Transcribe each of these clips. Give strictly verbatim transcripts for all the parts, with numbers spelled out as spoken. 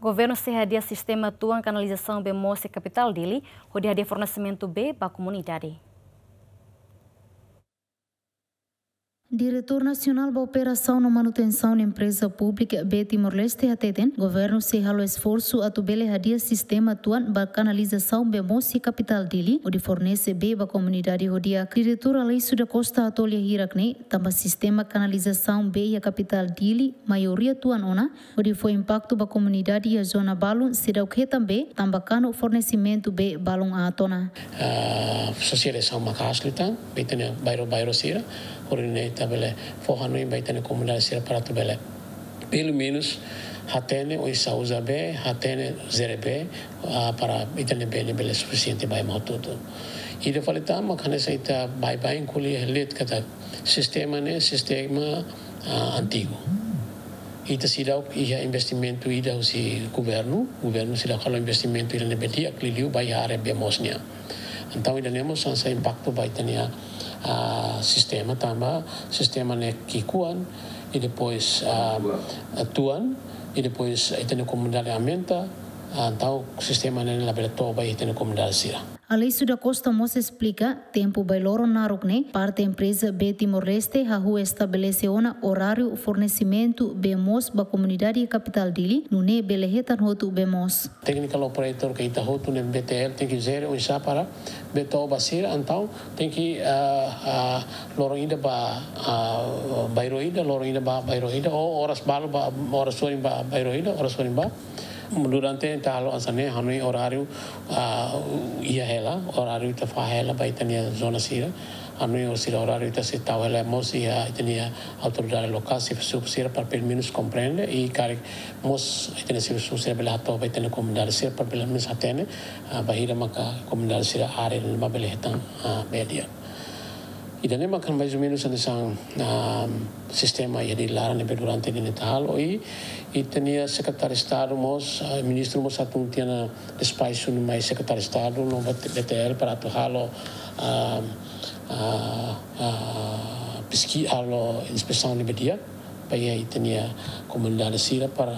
Governu sei hadi'a sistema tuan kanalizasaun bee moos iha kapitál Dili, hodi hadi'a fornesimentu bee ba komunidade. Diretór Nasionál ba Operasaun no Manutensaun Empreza Públika Bee Timor-Leste hateten, governu sei halo esforsu atu bele hadi'a sistema tuan ba kanalizasaun bee moos iha kapitál Dili, hodi fornese bee ba komunidade ho di'ak. Diretór Aleixo da Costa hato'o lia hirak ne'e, tanba sistema kanalizasaun bee iha kapitál Dili maioria tuan ona, hodi fó impaktu ba komunidade iha zona balun seidauk hetan bee, tanba kanu fornesimentu bee balun aat ona. Ah, sosializasaun maka'as liután, bee ita-nia bairru-bairru sira, hodi nune'e ita bele fó hanoin ba ita-nia komunidade sira para atu bele, pelumenus, hatene oinsá uza bee, hatene jere bee, ah, para ita-nia bee ne'e bele sufisiente ba ema hotu-hotu. Ida fali tan mak hanesan ita baibain ko'alia hela de'it katak sistema ne'e sistema, ah, antigu. Ita seidauk iha investimentu ida husi governu, governu seidauk halo investimentu ida ne'ebé di'ak liuliu ba iha área bee moos nian. Entaun ida ne'e mós hanesan impaktu ba ita-nia, ah, sistema tanba sistema ne'e ki'ikoan, i depois, ah, tuan, i depois ita-nia komunidade aumenta, ah, entaun sistema ne'e labele to'o ba ita-nia komunidade sira. Aleixo da Costa mós esplika, tempu bailoron naruk ne'e, parte empreza Bee Timor-Leste hahú estabelese ona oráriu fornesimentu bee moos ba komunidade iha kapitál Dili, nune'e bele hetan hotu bee moos. Technical operator ka ita hotu ne'e B T L tenke jere oinsá para bee to'o ba sira, entaun tenke, ah, ah, loron ida ba, ah, bairru ida, loron ida ba bairru ida, ou oras balu ba, oras sorin ba bairru ida, oras sorin ba. Durante ita halo hanesan ne'e, hanoin oráriu, ah, iha hela, oráriu ita fahe hela ba ita-nia zona sira. Hanoin oras sira oráriu ita sei tau hela mós iha ita-nia autoridade lokál, xefe suku sira para pelumenus komprende, i karik mós ita-nia xefe suku sira bele hato'o ba ita-nia komunidade sira para pelumenus hatene, ah, bainhira maka komunidade sira área ne'ebá bele hetan, ah, bee di'ak. Ida ne'e maka mais ou menus hanesan, ah, sistema iha Dili laran ne'ebé durante ne'e ita halo, i, i ita-nia sekretáriu Estadu mós, ah, ministru mós atu tiha ona despaxu no mai sekretáriu Estadu no B T L para atu halo, ah, ah, ah, peski-, halo inspesaun ne'ebé di'ak ba iha ita-nia komunidade sira para,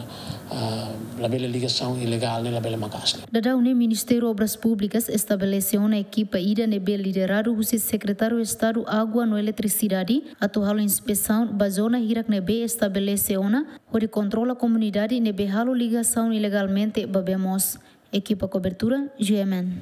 ah, labele ligasaun ilegál ne'e labele maka'as. Daudaun ne'e Ministériu Obras Públikas estabelese ona ekipa ida ne'ebé lideradu husi Sekretáriu Estadu Água no Eletrisidade atu halo inspesaun ba zona hirak ne'ebé estabelese ona, hodi kontrola komunidade ne'ebé halo ligasaun ilegalmente ba bee moos. Ekipa kobertura, G M N.